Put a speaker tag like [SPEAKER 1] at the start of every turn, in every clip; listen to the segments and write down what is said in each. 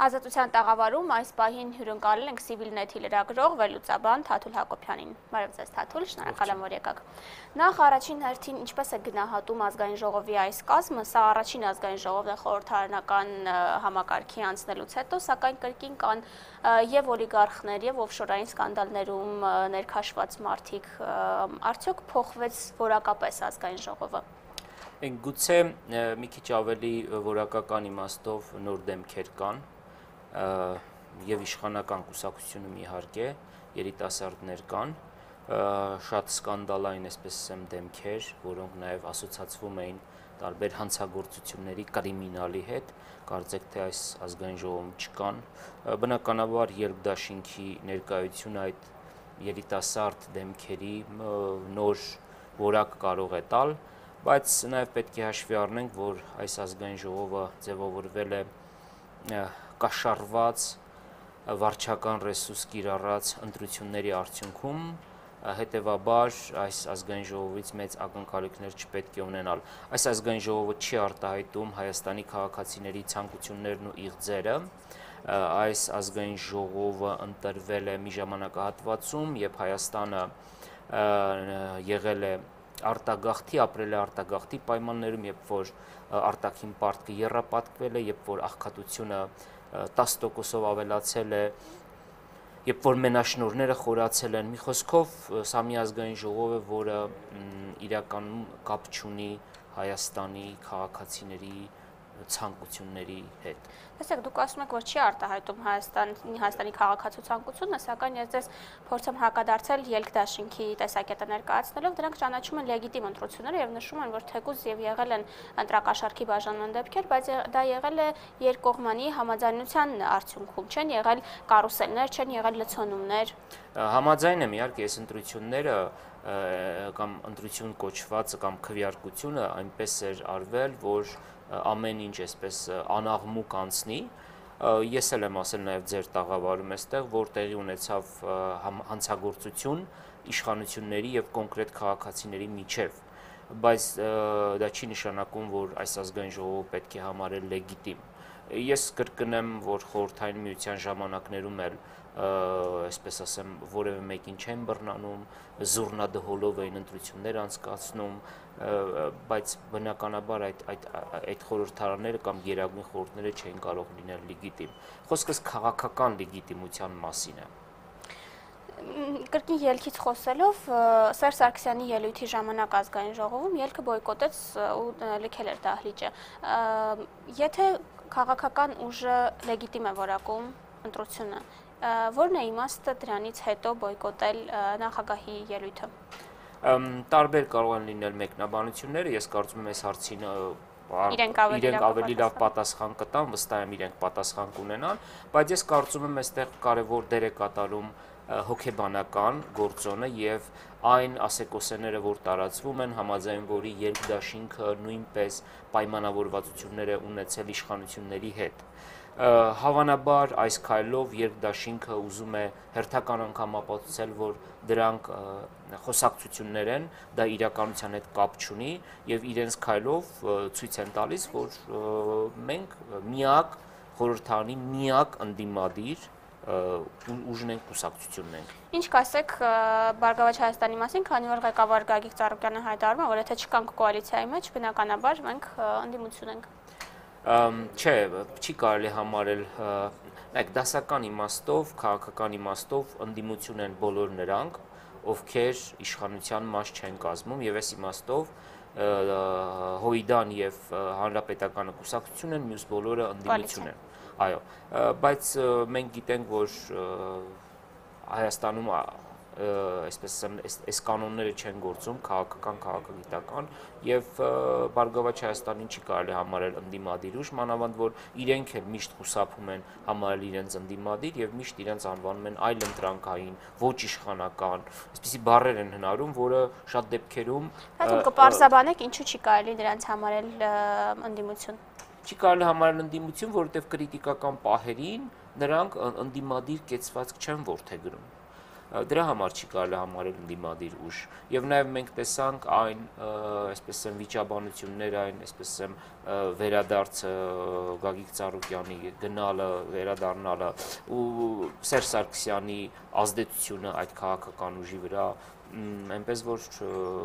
[SPEAKER 1] Ազատության տաղավարում այս պահին հյուրընկալել ենք Civilnet-ի լրագրող վերլուծաբան Թաթուլ Հակոբյանին։ Բարև ձեզ Թաթուլ, շնորհակալ եմ, որ եկաք։ Նախ առաջին հերթին ինչպես է գնահատում ազգային ժողովի այս կազմը, սա առաջին ազգային ժողովն է խորհրդարանական համակարգի անցնելուց հետո, սակայն կրկին կան եւ օլիգարխներ եւ օֆշորային սկանդալներում ներքաշված մարդիկ, արդյոք փոխվեց որակապես ազգային ժողովը։
[SPEAKER 2] Գուցե մի քիչ ավելի որակական իմաստով նոր դեմքեր կան եւ իշխանական կուսակցությունում իհարկե երիտասարդներ կան, շատ սկանդալային, այսպես ասեմ, դեմքեր, որոնք նաեւ ասոցացվում էին տարբեր հանցագործությունների կրիմինալի հետ, կարծեք թե այս ազգային ժողովում չկան, բնականաբար երկդաշինքի ներկայությունը այդ երիտասարդ դեմքերի նոր որակ կարող է տալ, բայց նաև պետք է հաշվի առնենք, որ այս ազգային ժողովը ձևավորվել է կաշառված վարչական ռեսուրս կիրառած ընտրությունների արդյունքում, հետևաբար այս ազգային ժողովից մեծ ակնկալիքներ չպետք է ունենալ։ Այս ազգային ժողովը չի արտահայտում Հայաստանի քաղաքացիների ցանկություններն ու իղձերը, այս ազգային ժողովը ընտրվել է մի ժամանակահատվածում, երբ Հայաստանը եղել է արտագաղթի, ապրել է արտագաղթի պայմաններում, երբ որ արտաքին պարտքը եռապատկվել է, երբ որ աղքատությունը 10%-ով ավելացել է, երբ որ մենաշնորհները խորացել են, մի խոսքով սա մի ազգային ժողով է, որը իրականում կապ չունի Հայաստանի քաղաքացիների ցանկությունների հետ։
[SPEAKER 1] Տեսեք, դուք ասում եք, որ չի արտահայտում Հայաստանի քաղաքացու ցանկությունը, սակայն ես ձեզ փորձեմ հակադարձել ելքդաշինքի տեսակետը ներկայացնելով, դրանք ճանաչում են լեգիտիմ ընտրությունները եւ նշում են, որ թեկուզ եւ եղել են ընտրակաշառքի բաժանման դեպքեր, բայց դա եղել է երկկողմանի համաձայնության արդյունքում, չեն եղել կարուսելներ, չեն եղել լցոնումներ։
[SPEAKER 2] Համաձայն եմ, իհարկե, այս ընտրությունները կամ ընտրություն կոչվածը կամ քվեարկությունը այնպես էր արվել, որ ամեն ինչ այսպես անաղմուկ անցնի, ես էլ եմ ասել նաև ձեր տաղավարում այստեղ, որ տեղի ունեցավ հանցագործություն իշխանությունների եւ կոնկրետ քաղաքացիների միջև, բայց դա չի նշանակում, որ այս ազգային ժողովը պետք է համարել լեգիտիմ։ Ես կրկնեմ, որ խորհրդային միության ժամանակներում էլ այսպես ասեմ, որևէ մեկին չեն բռնանում, զուռնադհոլով էին ընտրություններ անցկացնում, բայց բնականաբար այդ խորհրդարանները կամ գերագույն խորհուրդները չէին կարող լինել լեգիտիմ։ Խոսքս քաղաքական լեգիտիմության մասին է։
[SPEAKER 1] Կրկին ելքից խոսելով, Սերժ Սարգսյանի ելույթի ժամանակ ազգային ժողովում ելքը բոյկոտեց ու լքել էր դահլիճը։ Եթե քաղաքական ուժը լեգիտիմ է որակում ընտրությունը, որն է իմաստը դրանից հետո բոյկոտել նախագահի ելույթը։
[SPEAKER 2] Տարբեր կարող են լինել մեկնաբանությունները, ես կարծում եմ այս հարցին իրենք ավելի լավ պատասխան կտան, վստահ եմ իրենք պատասխան կունենան, բայց ես կարծում եմ այստեղ կարևոր դեր է կատարում հոգեբանական գործոնը եւ այն ասեկոսեները, որ տարածվում են, համաձայն որի երկդաշինքը նույնպես պայմանավորվածություններ է ունեցել իշխանությունների հետ։ Հավանաբար այս քայլով երկդաշինքը ուզում է հերթական անգամ ապացուցել, որ դրանք խոսակցություններ են, դա իրականության հետ կապ չունի եւ իրենց քայլով ցույց են տալիս, որ մենք միակ խորհրդարանի միակ ընդդիմադիր ուժն ենք, կուսակցությունն ենք։
[SPEAKER 1] Ինչ կասեք Բարգավաճ Հայաստանի մասին, քանի որ ղեկավար Գագիկ Ծառուկյանը հայտարարում է, որ եթե չկանք կոալիցիայի մեջ, բնականաբար մենք ընդդիմություն ենք։
[SPEAKER 2] Չէ, չի կարելի համարել, դասական իմաստով, քաղաքական իմաստով ընդդիմություն են բոլոր նրանք, ովքեր իշխանության մաս չեն կազմում եւ այս իմաստով Հույդան եւ Հանրապետականը կուսակցություն են, մյուս բոլորը ընդդիմություն են։ Այո, բայց մենք գիտենք, որ Հայաստանում այսպես այս կանոնները չեն գործում, քաղաքական, քաղաքագիտական եւ Բարգավաճ Հայաստանին չի կարելի համարել ընդդիմադիր ուժ, մանավանդ որ իրենք էլ միշտ խուսափում են համարել իրենց ընդդիմադիր եւ միշտ իրենց անվանում են այլընտրանքային, ոչ իշխանական, այսպիսի բառեր են հնարում, որը շատ դեպքերում
[SPEAKER 1] Դուք կպարզաբանեք ինչու չի կարելի նրանց համարել ընդդիմություն։
[SPEAKER 2] Չի կարելի համարել ընդդիմություն, որովհետև կրիտիկական պահերին նրանք ընդդիմադիր կեցվածք չեն որդեգրում։ դրա համար չի կարելի համարել ընդդիմադիր ուժ։ Եվ նաև մենք տեսանք այն, այսպես ասեմ, վիճաբանություններ, այն, այսպես ասեմ, վերադարձը Գագիկ Ծառուկյանի գնալը, վերադառնալը ու Սերժ Սարգսյանի ազդեցությունը այդ քաղաքական ուժի վրա, այնպես որ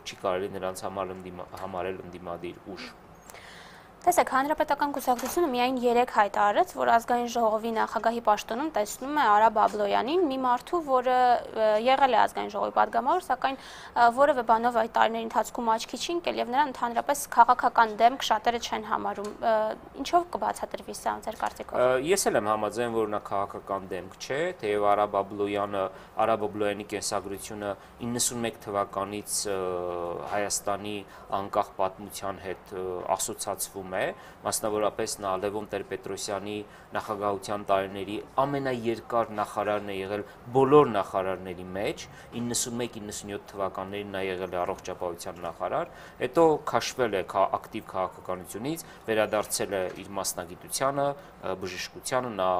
[SPEAKER 2] չի կարելի նրանց համարել ընդդիմադիր ուժ։
[SPEAKER 1] Տեսեք, Հանրապետական կուսակցությունը միայն 3 հայտ արեց, որ ազգային ժողովի նախագահի պաշտոնում տեսնում է Արա Բաբլոյանին, մի մարդու, որը եղել է ազգային ժողովի падգամավոր, սակայն որևէ բանով այդ տարիների ընթացքում աչքի չի ընկել եւ նրան ընդհանրապես քաղաքական դեմք շատերը չեն համարում։ Ինչով կբացատրվի սա ձեր կարծիքով։
[SPEAKER 2] Ես էլ եմ համաձայն, որ նա քաղաքական դեմք չէ, թեև Արա Բաբլոյանի կենսագրությունը 91 թվականից Հայաստանի անկախ պատմության հետ ասոցացվում է, մասնավորապես նա Լևոն Տեր-Պետրոսյանի նախագահության տարիների ամենաերկար նախարարն է եղել բոլոր նախարարների մեջ, 91-97 թվականներին նա եղել է առողջապահության նախարար, հետո քաշվել է ակտիվ քաղաքականությունից, վերադարձել է իր մասնագիտությանը, բժշկությանը, նա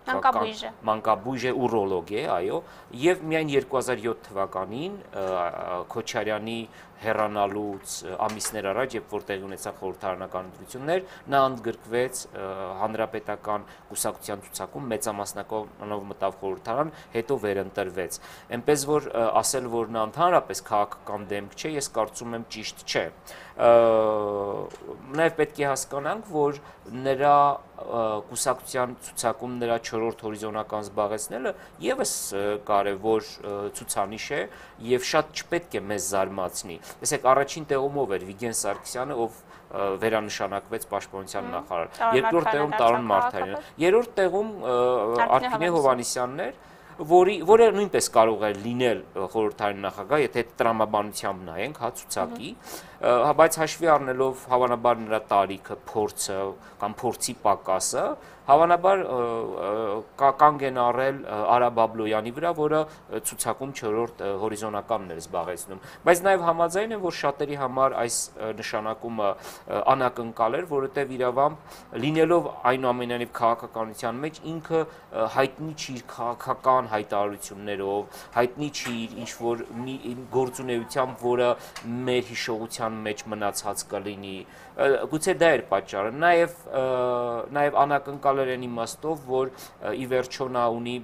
[SPEAKER 2] մանկաբույժ է, ուրոլոգ է, այո, եւ միայն 2007 թվականին Քոչարյանի հեռանալուց ամիսներ առաջ, երբ որ տեղի ունեցան խորհրդարանական ընտրություններ, նա ընդգրկվեց հանրապետական կուսակցության ցուցակում, մեծամասնականով մտավ խորհրդարան, հետո վերընտրվեց։ Այնպես որ ասել, որ նա ընդհանրապես քաղաքական դեմք չէ, ես կարծում եմ ճիշտ չէ։ Նաև պետք է հասկանանք, որ նրա կուսակցության ցուցակում նրա 4-րդ հորիզոնական զբաղեցնելը եւս կարևոր ցուցանիշ է եւ շատ չպետք է մեզ զարմացնի։ Տեսեք, առաջին տեղում ով էր Վիգեն Սարգսյանը, ով վերանշանակվեց պաշտպանության նախարար, երկրորդ տեղում Տարոն Մարթարյանը, երրորդ տեղում Արփինե Հովհաննիսյանն էր, որը նույնպես կարող է լինել խորհրդարանի նախագահ, եթե տրամաբանությամբ նայենք, հա, ցուցակի, բայց հաշվի առնելով հավանաբար նրա տարիքը, փորձը կամ փորձի պակասը, հավանաբար կանգ են առել Արա Բաբլոյանի վրա, որը ցուցակում 4-րդ հորիզոնականն էր զբաղեցնում։ Բայց նաև համաձայն եմ, որ շատերի համար այս նշանակումը անակնկալ էր, որովհետև իրավամբ լինելով այնուամենայնիվ քաղաքականության մեջ ինքը հայտնի չի իր քաղաքական հայտարարություններով, հայտնի չի իր ինչ-որ մի գործունեությամբ, որը մեր հիշողության մեջ մնացած կլինի։ Գուցե դա էր պատճառը։ Նաև անակնկալ էր այն իմաստով, որ ի վերջո նա ունի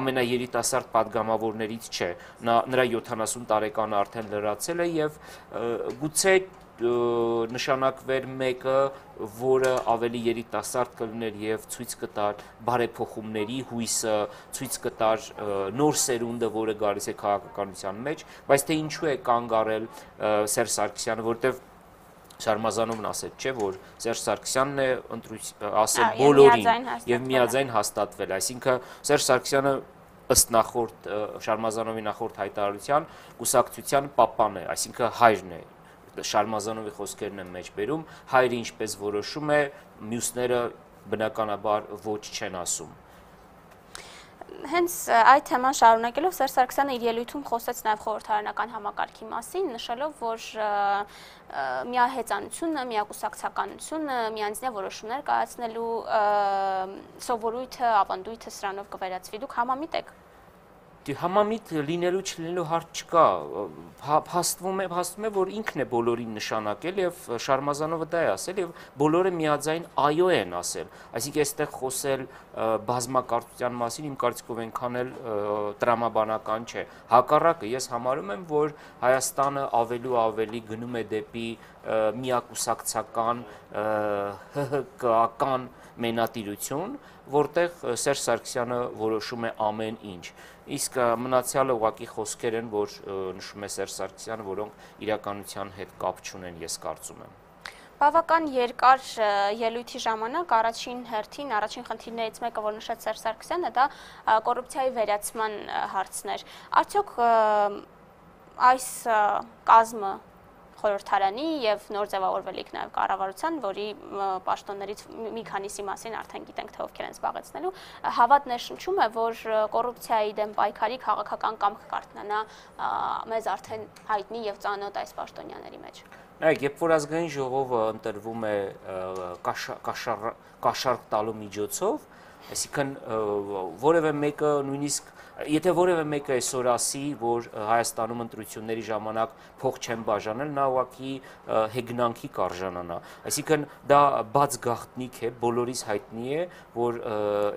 [SPEAKER 2] ամենաերիտասարդ падգամավորներից չէ։ Նրա 70 տարեկանը արդեն լրացել է եւ գուցե նշանակվեր մեկը, որը ավելի երիտասարդ կլիներ եւ ցույց կտար բարեփոխումների հույսը, ցույց կտար նոր սերունդը, որը գալիս է քաղաքականության մեջ, բայց թե ինչու է կանգ առել Սերժ Սարգսյանը, որտեվ Շարմազանովն ասել, չէ, որ Սերժ Սարգսյանն է ասել բոլորին եւ միաձայն հաստատվել, այսինքն Սերժ Սարգսյանը ըստ նախորդ Շարմազանովի նախորդ հայտարարության կուսակցության պապան է, այսինքն հայրն է։ Շարմազանովի խոսքերն են մեջ բերում, հայրը ինչպես որոշում է, մյուսները բնականաբար ոչ չեն ասում։
[SPEAKER 1] Հենց այդ թեման շարունակելով Սերժ Սարգսյանը իր ելույթում խոսեց նաև խորհրդարանական համակարգի մասին, նշելով, որ միահեծանությունը, միակուսակցականությունը, միանձնյա որոշումներ կայացնելու սովորույթը, ավանդույթը սրանով կվերածվի։ Դուք համամիտ եք։
[SPEAKER 2] Համամիտ լինելու չլինելու հարց չկա, հաստվում է, որ ինքն է բոլորին նշանակել եւ Շարմազանովը դա է ասել եւ բոլորը միաձայն այո են ասել, այսինքն այստեղ խոսել բազմակարծության մասին իմ կարծիքով այնքան էլ տրամաբանական չէ, հակառակը ես համարում եմ, որ Հայաստանը ավելի ու ավելի գնում է դեպի միակուսակցական ՀՀԿ-ական մենատիրություն, որտեղ Սերժ Սարգսյանը որոշում է ամեն ինչ, իսկ մնացյալը ուղղակի խոսքեր են, որ նշում է Սերժ Սարգսյանը, որոնք իրականության հետ կապ չունեն, ես կարծում եմ։
[SPEAKER 1] Բավական երկար ելույթի ժամանակ առաջին հերթին, առաջին խնդիրներից մեկը, որ նշեց Սերժ Սարգսյանը, դա կոռուպցիայի վերացման հարցն էր։ Արդյոք այս կազմը խորհրդարանի եւ նոր ձևավորվելիք նաեւ կառավարության, որի պաշտոններից մի քանիսի մասին արդեն գիտենք, թե ովքեր են զբաղեցնելու, հավատ ներշնչում է, որ կոռուպցիայի դեմ պայքարի քաղաքական կամք կարողանա մեզ արդեն հայտնի եւ ծանոթ այս պաշտոնյաների մեջ։
[SPEAKER 2] Նայեք, երբ որ ազգային ժողովը ընտրվում է կաշառք տալու միջոցով, Այսինքն որևէ մեկը նույնիսկ եթե որևէ մեկը այսօր ասի, որ Հայաստանում ընտրությունների ժամանակ փող չեն բաժանել, նա ուղղակի հեգնանքի կարժանանա։ Այսինքն դա բաց գաղտնիք է, բոլորիս հայտնի է, որ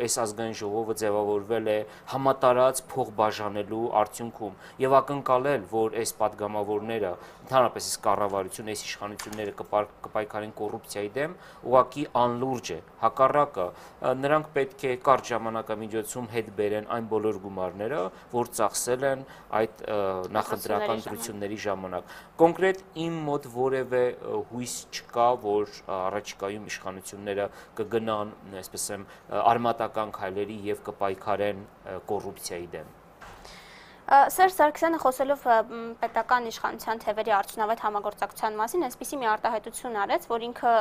[SPEAKER 2] այս ազգային ժողովը ձևավորվել է համատարած փող բաժանելու արդյունքում եւ ակնկալել, որ այս падգամավորները, ընդհանրապես այս կառավարությունը, այս իշխանությունները կպայքարեն կոռուպցիայի դեմ, ուղղակի անլուրջ է։ Հակառակը, նրանք պետք է կարճ ժամանակամիջոցում հետ բերեն այն բոլոր գումարները, որ ծախսել են այդ նախընտրական ընտրությունների ժամանակ։ Կոնկրետ իմ մոտ որևէ հույս չկա, որ առաջիկայում իշխանությունները կգնան, այսպես եմ, արմատական քայլերի եւ կպայքարեն կոռուպցիայի դեմ։
[SPEAKER 1] Սերժ Սարգսյանը խոսելով պետական իշխանության թևերի արդյունավետ համագործակցության մասին, այսպիսի մի արտահայտություն արեց, որ ինքը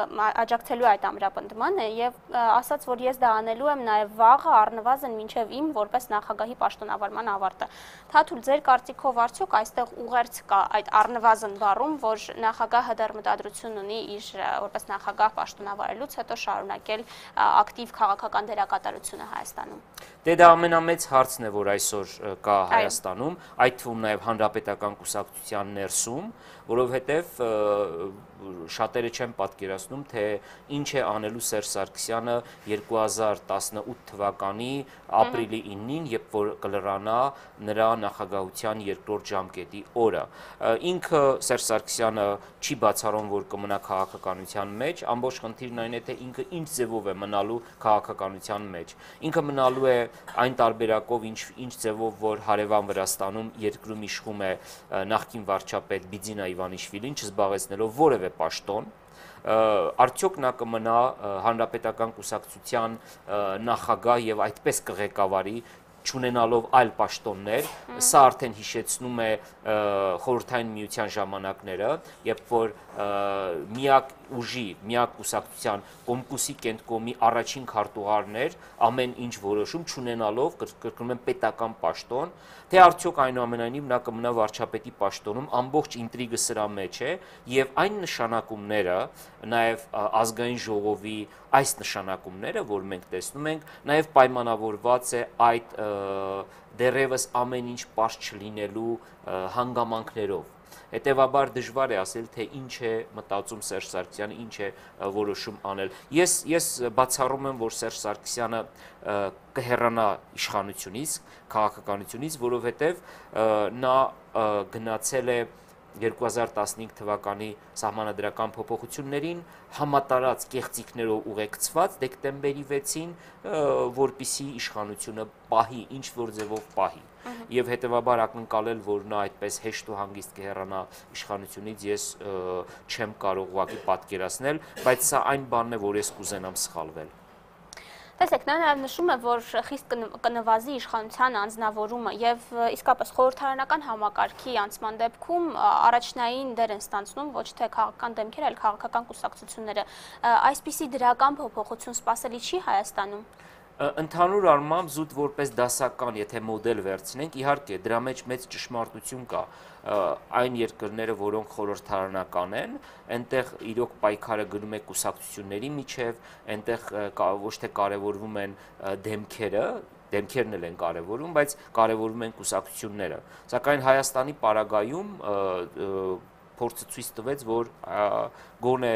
[SPEAKER 1] աջակցելու այդ ամրապնդմանը եւ ասաց, որ ես դա անելու եմ նաեւ վաղը առնվազն մինչեւ իմ որպես նախագահի պաշտոնավարման ավարտը։ Թաթուլ, ձեր կարծիքով արդյոք այստեղ ուղերձ կա այդ առնվազն բառում, որ նախագահը դեռ մտադրություն ունի իր որպես նախագահ պաշտոնավարելուց հետո շարունակել ակտիվ քաղաքական դերակատարությունը Հայաստանում։
[SPEAKER 2] Դե դա ամենամեծ հարցն է, որ այսօր կա Հայաստանում, այդ թվում նաև հանրապետական կուսակցության ներսում, որովհետև շատերը չեն պատկերացնում, թե ինչ է անելու Սերժ Սարգսյանը 2018 թվականի ապրիլի 9-ին, երբ որ կլրանա նրա նախագահության երկրորդ ժամկետի օրը։ Ինքը Սերժ Սարգսյանը չի բացառում, որ կմնա քաղաքականության մեջ, ամբողջ խնդիրն այն է, թե ինքը ինչ ձևով է մնալու քաղաքականության մեջ։ Ինքը մնալու է այն տարբերակով, ինչ ձևով, որ հարևան Վրաստանում երկրում իշխում է նախկին վարչապետ Բիձինա Իվանիշվիլին, չզբաղեցնելով որևէ պաշտոն, արդյոք նա կմնա հանրապետական կուսակցության նախագահ եւ այդպես կղեկավարի չունենալով այլ պաշտոններ, սա արդեն հիշեցնում է խորհրդային միության ժամանակները, երբ որ միակ ուժի, միակ կուսակցության Կոմկուսի կենտկոմի առաջին քարտուղարներ ամեն ինչ որոշում չունենալով կրկնում են պետական պաշտոն, թե արդյոք այնուամենայնիվ նա կմնա վարչապետի պաշտոնում, ամբողջ ինտրիգը սրա մեջ է եւ այն նշանակումները, նաեւ ազգային ժողովի այս նշանակումները, որ մենք տեսնում ենք, նաեւ պայմանավորված է այդ դեռևս ամեն ինչ պարզ չլինելու հանգամանքներով։ Հետևաբար դժվար է ասել, թե ինչ է մտածում Սերժ Սարգսյանը, ինչ է որոշում անել։ Ես բացառում եմ, որ Սերժ Սարգսյանը կհեռանա իշխանությունից, քաղաքականությունից, որովհետև նա գնացել է 2015 թվականի սահմանադրական փոփոխություններին համատարած կեղծիքներով ուղեկցված դեկտեմբերի 6-ին, որպիսի իշխանությունը պահի, ինչ որ ձևով պահի։ Եվ հետևաբար ակնկալել, որ նա այդպես հեշտ ու հանգիստ կհեռանա իշխանությունից, ես չեմ կարող ուղղակի պատկերացնել, բայց սա այն բանն է, որ ես կուզենամ սխալվել։
[SPEAKER 1] Տեսեք, նա նաև նշում է, որ խիստ կնվազի իշխանության անձնավորումը եւ իսկապես խորհրդարանական համակարգի անցման դեպքում առաջնային դեր են ստանձնում ոչ թե քաղաքական դեմքերը, այլ քաղաքական կուսակցությունները։ Այսպիսի դրական փոփոխություն սպասելի չի Հայաստանում։
[SPEAKER 2] Ընդհանուր առմամբ զուտ որպես դասական, եթե մոդել վերցնենք, իհարկե դրա մեջ մեծ ճշմարտություն կա, այն երկրները, որոնք խորհրդարանական են, այնտեղ իրոք պայքարը գնում է կուսակցությունների միջև, այնտեղ ոչ թե կարևորվում են դեմքերը, դեմքերն էլ են կարևորում, բայց կարևորում են կուսակցությունները։ Սակայն Հայաստանի պարագայում փորձը ցույց տվեց, որ գոնե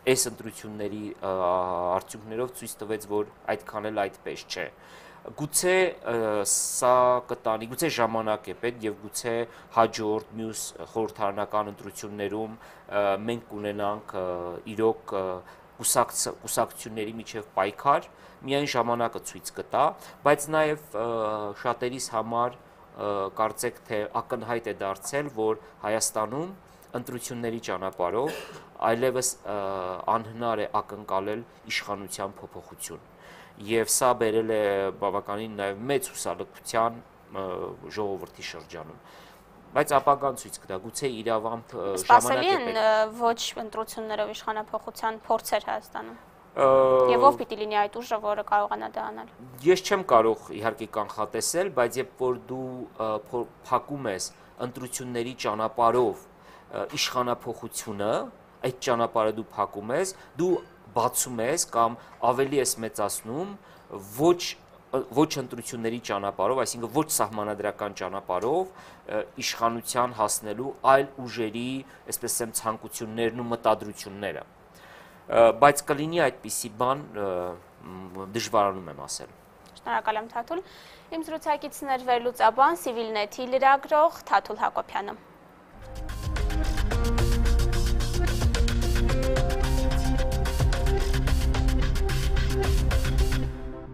[SPEAKER 2] այս ընտրությունների արդյունքներով ցույց տվեց, որ այդքան էլ այդպես չէ։ Գուցե սա կտանի, գուցե ժամանակ է պետք եւ գուցե հաջորդ մյուս խորհրդարանական ընտրություններում մենք կունենանք իրոք կուսակցությունների միջև պայքար, միայն ժամանակը ցույց կտա, բայց նաեւ շատերիս համար կարծեք թե ակնհայտ է դարձել, որ Հայաստանում ընտրությունների ճանապարհով այլևս անհնար է ակնկալել իշխանության փոփոխություն։ Եվ սա բերել է բավականին նաև մեծ հուսալքության ժողովրդի շրջանում։ Բայց ապագան ցույց կտա, գուցե իրավամբ ժամանակ է պետք։
[SPEAKER 1] Սպասելի են ոչ ընտրություններով իշխանափոխության փորձեր Հայաստանում։ Եվ ով պիտի լինի այդ ուժը, որը կարողանա դա անել։
[SPEAKER 2] Ես չեմ կարող իհարկե կանխատեսել, բայց երբ որ դու փակում ես ընտրությունների ճանապարհով իշխանափոխությունը, այդ ճանապարհը դու փակում ես, դու բացում ես կամ ավելի ես մեծացնում ոչ ընտրությունների ճանապարհով, այսինքն ոչ սահմանադրական ճանապարհով իշխանության հասնելու այլ ուժերի, այսպես ասեմ, ցանկություններն ու մտադրությունները։ Բայց կլինի այդպիսի բան, դժվարանում եմ ասել։
[SPEAKER 1] Շնորհակալ եմ Թաթուլ։ Իմ զրուցակիցն էր վերլուծաբան, Civilnet-ի լրագրող Թաթուլ Հակոբյանը։